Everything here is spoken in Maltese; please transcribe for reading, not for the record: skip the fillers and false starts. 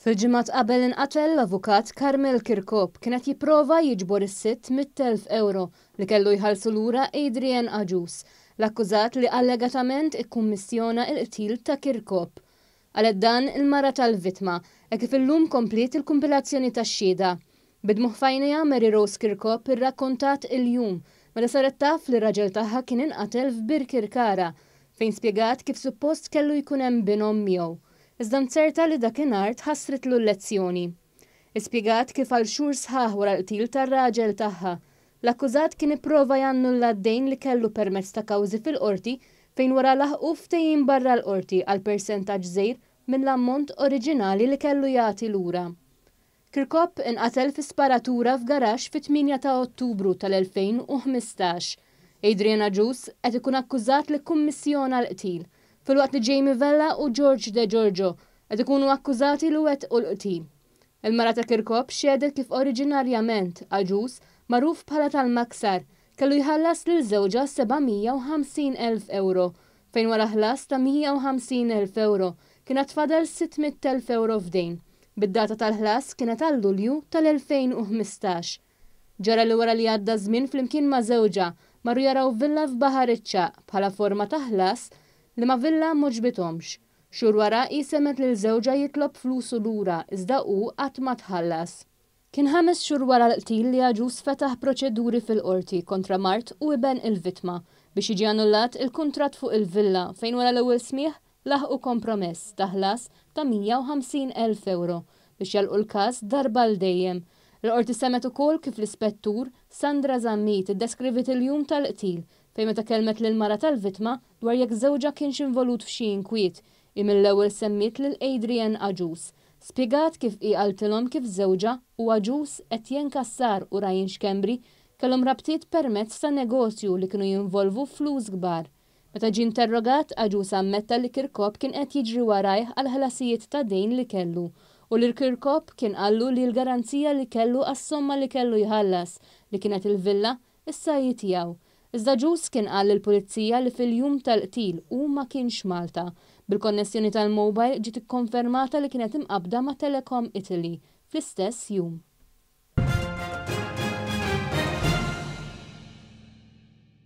Fil-ġimgħat qabel inqatel l-avukat Carmel Kirkop kien qed jipprova jiġbor is-600,000 ewro li kellu jħallsu lura Adrian Agius, l-akkużat li allegatament ikkummissjona l-qtil ta' Kirkop. Qalet dan il-mara tal-vittma, hekk kif illum kompliet il-kumpilazzjoni tax-xhieda. Bid-dmugħ f'għajnejha Mary Rose Kirkop irrakkontat il-jum meta saret taf li r-raġel tagħha kien inqatel f'Birkirkara, fejn spjegat kif suppost kellu jkun hemm binhom miegħu. Iżda nzerta li dakinhar tħassritlu l-lezzjoni. Hi spjegat kif għal xhur sħaħ wara l-qtil tar-raġel tagħha, l-akkużat kien ipprova jannulla d-dejn li kellu permezz ta' kawżi fil-Qorti fejn wara laħqu ftehim barra l-Qorti għal persentaġġ żgħir mill-ammont oriġinali li kellu jagħti lura. Kirkop inqatel fi sparatura f'garaxx fit-8 ta' Ottubru tal-2015. Adrian Agius qed ikun akkużat li kkummissjona l-qtil, filwaqt li Jamie Vella u George Degiorgio qed ikunu akkużati li wettqu l-qtil. Il-mara ta' Kirkop xehdet kif oriġinarjament Agius, magħruf bħala tal-Maksar, kellu jħallas lil żewġha 750,000 ewro, fejn wara ħlas ta' 150,000 ewro kien għad fadal 600,000 ewro f'dejn, bid-data tal-ħlas kienet għal Lulju tal-2015. Ġara li wara li għadda ż-żmien flimkien ma' żewġha marru jaraw villa f'Baħar iċ-Ċagħaq bħala forma ta' ħlas liema villa m'għoġbithomx. Xhur wara hi semgħet lil żewġha jitlob flusu lura iżda hu qatt ma tħallas. Kien ħames xhur wara l-qtil li Agius fetaħ proċeduri fil-Qorti kontra mart u iben il-vittma biex jiġi annullat il-kuntratt fuq il-villa fejn wara l-ewwel smigħ laħqu kompromess ta' ħlas ta' 150,000 ewro biex jagħlqu l-każ darba għal dejjem. Il-Qorti semgħet ukoll kif l-Ispettur Sandra Zammit iddeskriviet il-jum tal-qtil fejn meta kellmet lill-mara tal-vittma dwar jekk żewġha kienx involut f'xi inkwiet, hi mill-ewwel semmiet lil Adrian Agius. Spjegat kif hi qaltilhom kif żewġha u Agius, Etienne Cassar u Ryan Schembri kellhom rabtiet permezz ta' negozju li kienu jinvolvu flus kbar. Meta ġie interrogat, Agius ammetta li Kirkop kien qed jiġri warajh għall-ħlasijiet ta' dejn li kellu u li Kirkop kien qallu li l-garanzija li kellu għas-somma li kellu jħallas, li kienet il-villa, issa hi tiegħu. Iżda Agius kien qal lill-Pulizija li fil-jum tal-qtil hu ma kienx Malta. Bil-konnessjoni tal-mobile ġiet ikkonfermata li kienet imqabbda ma' Telecom Italy fl-istess jum.